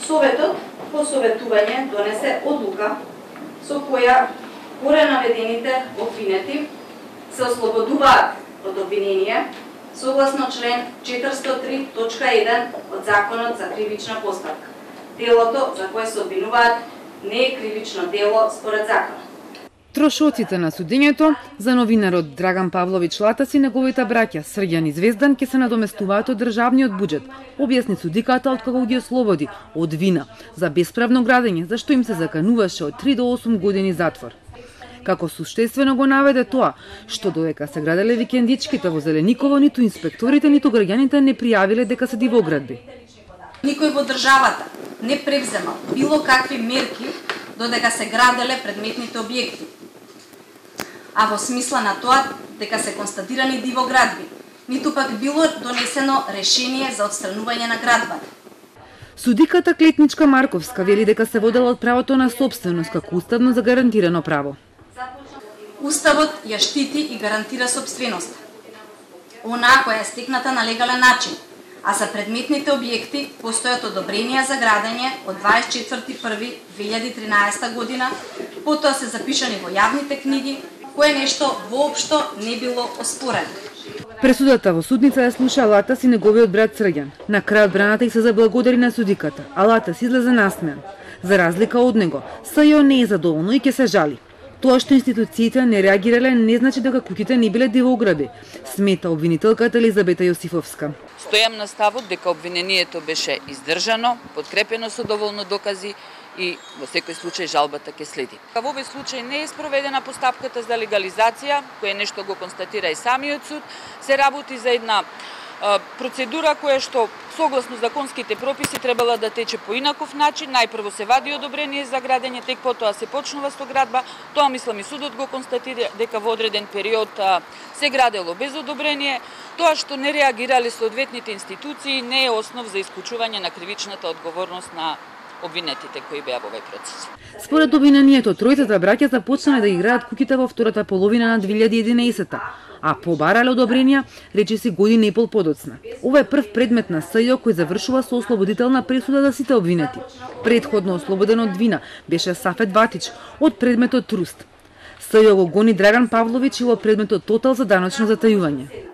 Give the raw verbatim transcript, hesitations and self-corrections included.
Советот по советување донесе одлука со која горе наведените обвинети се ослободуваат од обвинение согласно член четириста три точка еден од Законот за кривична постапка. Делото за кое се обвинуваат не е кривично дело според законот. Трошоците на судењето за новинарот Драган Павлович Латас и неговите браќа Срѓан и Звездан ќе се надоместуваат од државниот буџет, објасни судиката откако ги ослободи од вина за бесправно градење, за што им се закануваше од три до осум години затвор. Како суштествено го наведе тоа, што додека се граделе викендичките во Зелениково, ниту инспекторите, ниту граѓаните не пријавиле дека се дивоградби. Никој во државата не превзема било какви мерки додека се граделе предметните објекти, а во смисла на тоа дека се констатирани дивоградби, ниту пак било донесено решение за отстранување на градбата. Судиката Клетничка Марковска вели дека се водела од правото на собственост како уставно загарантирано право. Уставот ја штити и гарантира собственоста, онаа која е стекната на легален начин, а за предметните објекти постојат одобренија за градење од дваесет и четврти први две илјади и тринаесета година, потоа се запишани во јавните книги, кое нешто воопшто не било оспорено. Пресудата во судница ја слуша Латас и неговиот брат Срѓан. На крај одбраната и се заблагодари на судиката, а Латас излезе насмеан. За разлика од него, СЈО не е задоволно и ќе се жали. Тоа што институциите не реагирале не значи дека куќите не биле дивограби, смета обвинителката Елизабета Јосифовска. Стојам на ставот дека обвинението беше издржано, подкрепено со доволно докази и во секој случај жалбата ќе следи. Во овој случај не е спроведена постапката за легализација, која нешто го констатира и самиот суд, се работи за една процедура која што согласно законските прописи требала да тече по инаков начин. Најпрво се вади одобрение за градење, тек потоа се почнува со градба. Тоа мислам и судот го констатира дека во одреден период се градело без одобрение. Тоа што не реагирале соодветните институции не е основ за исклучување на кривичната одговорност на обвинетите кои беа во овој процес. Според обвинението, тројцата браќа започнале да играат куќите во втората половина на две илјади и единаесета, а побарале одобренија речиси година и пол подоцна. Ова е прв предмет на СЈО кој завршува со ослободителна пресуда за сите обвинети. Предходно ослободен од вина беше Сафет Ватич од предметот Труст. СЈО го гони Драган Павлович и во предметот Тотал за даночно затајување.